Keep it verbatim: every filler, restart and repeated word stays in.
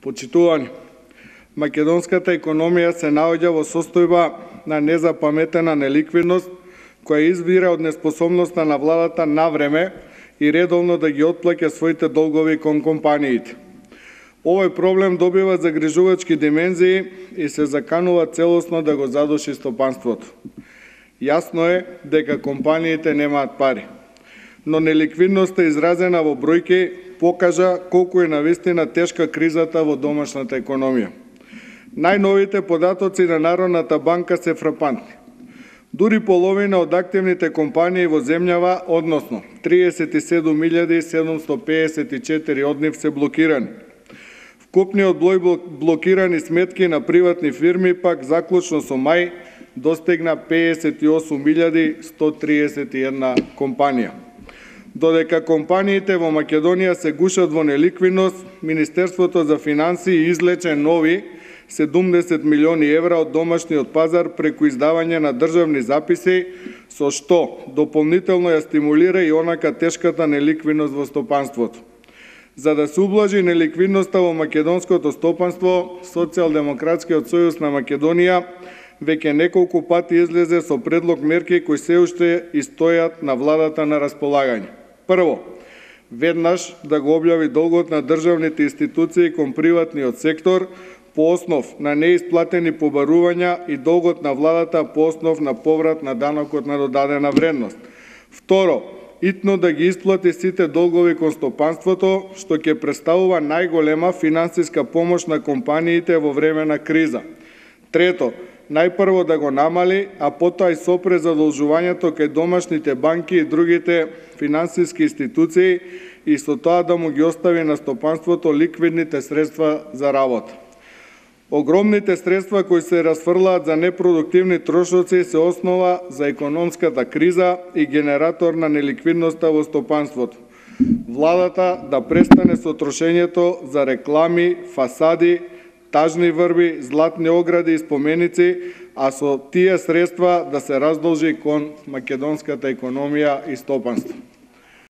Почитувани, македонската економија се наоѓа во состојба на незапаметена неликвидност, која извира од неспособноста на владата на време и редовно да ги отплаќа своите долгови кон компаниите. Овој проблем добива загрижувачки димензии и се заканува целосно да го задуши стопанството. Јасно е дека компаниите немаат пари, но неликвидноста изразена во бројки покажа колку е навистина тешка кризата во домашната економија. Најновите податоци на Народната банка се фрапантни. Дури половина од активните компании во земјава, односно триесет и седум илјади седумстотини пеесет и четири од нив се блокирани. Вкупниот број блокирани сметки на приватни фирми пак заклучно со мај достигна пеесет и осум илјади сто триесет и една компанија. Додека компаниите во Македонија се гушат во неликвидност, Министерството за финансии излече нови седумдесет милиони евра од домашниот пазар преку издавање на државни записи, со што дополнително ја стимулира и онака тешката неликвидност во стопанството. За да се ублажи неликвидноста во македонското стопанство, Социјалдемократскиот сојуз на Македонија веќе неколку пати излезе со предлог мерки кои се уште и стојат на владата на располагање. Прво, веднаш да го објави долгот на државните институции кон приватниот сектор по основ на неисплатени побарувања и долгот на владата по основ на поврат на данокот на додадена вредност. Второ, итно да ги исплати сите долгови кон стопанството, што ќе представува најголема финансиска помош на компаниите во време на криза. Трето, најпрво да го намали, а потоа и сопре задолжувањето кај домашните банки и другите финансиски институции и со тоа да му ги остави на стопанството ликвидните средства за работа. Огромните средства кои се расфрлаат за непродуктивни трошоци се основа за економската криза и генератор на неликвидноста во стопанството. Владата да престане со трошењето за реклами, фасади, тажни врби, златни огради и споменици, а со тие средства да се раздолжи кон македонската економија и стопанство.